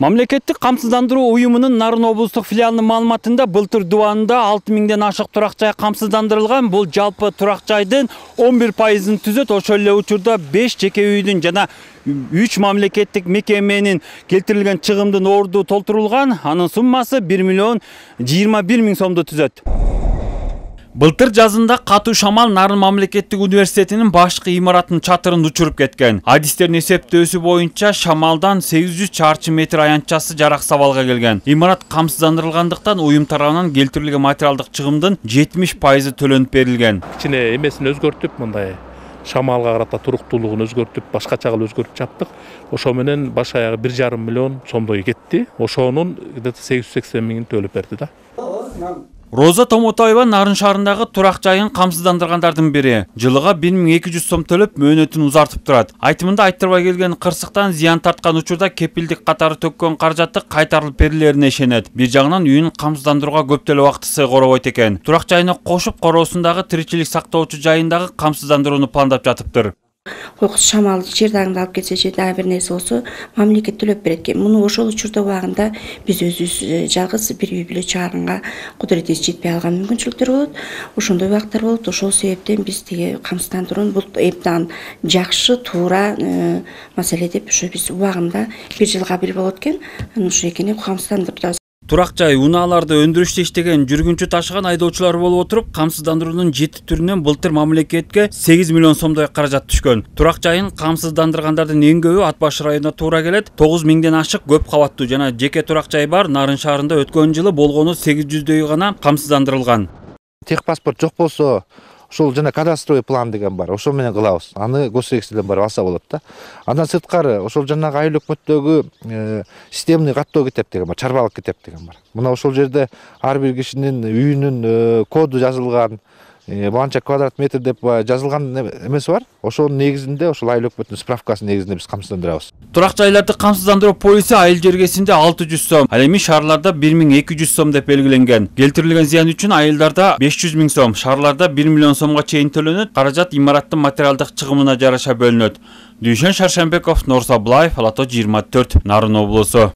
Мамлекеттик камсыздандыруу уюмунун Нарын облустук филиалынын маалыматында былтыр дубанында 6000ден ашык турак жай камсыздандырылган. Бул жалпы турак жайдын 11%-ын түзөт. Ошол эле учурда 5 жеке үйдүн жана 3 мамлекеттик мекеменин келтирилген чыгымдын орду толтурулган. Анын суммасы 1,21 миллион сомду түзөт. Былтыр жазында катуу шамал Нарын мамлекеттик университетинин башкы имараттын чатырын учуруп кеткен. Адистердин эсептөөсү боюнча шамалдан 800 чарчы метр аянтчасы жарак сабалга келген. Имарат камсыздандырылгандыктан уюм тарабынан келтирилген материалдык чыгымдын 70% төлөнүп берилген. Кичине эмесин өзгөртүп, мындай шамалга карата туруктуулугун өзгөртүп, башкача кылып өзгөртүп чаптык. Ошо менен баш аягы 1,5 миллион сомдой кетти. Ошонун 880 миңин төлөп берди да. Роза Томотоева Нарын шаарындагы турак жайын камсыздандыргандардын бири. Жылыга 1200 сом төлөп мөөнөтүн узартып турат. Айтымында айттырбай келген кырсыктан зыян тарткан учурда кепилдик катары төккөн каражаты кайтарылып берилерине ишенет. Бир жагынан үйүн камсыздандырууга көп деле убактысы коробойт экен. Турак жайына кошуп короосундагы тиричилик сактоочу жайындагы камсыздандырууну пландап жатыптыр. Кокус шамал жер дагыңды алып кетсе же дагы бир нерсе болсо мамлекет төлөп берет экен. Муну ошол учурда убагында биз өзүбүз жалгыз бир үй бүлө чыгарганга кудуретибиз жетпей алган мүмкүнчүлүктөр болот. Ошондой убактар болот. Ошол себептен биз тиги камсыздандырууну бул эптен жакшы, туура маселе деп ошо биз убагында бир жылга бир болот экен. Ошо экени камсыздандырып Турак жай унааларды өндүрүштө иштеген жүргүнчү ташыган айдоочулар болуп отуруп, камсыздандыруунун 7 түрүнөн былтыр мамлекетке 8 миллион сомдой каражат түшкөн. Турак жайын камсыздандыргандардын эң көбү Ат баш районуна туура келет. 9000ден ашык көп кабаттуу жана жеке турак жай бар. Нарын шаарында өткөн жылы болгону 800дөй гана камсыздандырылган. Техпаспорт жок болсо, ошол жана кадастровый план деген бар. Ошол менен кылабыз. Аны госрегистрден барып алса болот да. Андан сырткары ошол жанагы айыл өкмөттөгү системный каттоо китеп деген бар, чарбалык китеп деген бар. Мына ошол жерде ар бир кишинин үйүнүн коду жазылган, банча квадрат метр деп жазылган эмеси бар. Ошонун негизинде ошол айыл өкмөттүн справкасынын негизинде биз камсыздандырабыз. Турак жайларды камсыздандыруу полиси айыл жергесинде 600 сом, ал эми шаарларда 1200 сом деп белгиленген. Келтирилген зыян үчүн айылдарда 500 миң сом, шаарларда 1 миллион сомго чейин төлөнөт. Каражат имараттын материалдык чыгымына жараша бөлүнөт. Дүйшөн Шаршембеков, Норсаблаев, Алато 24, Нарын облусу.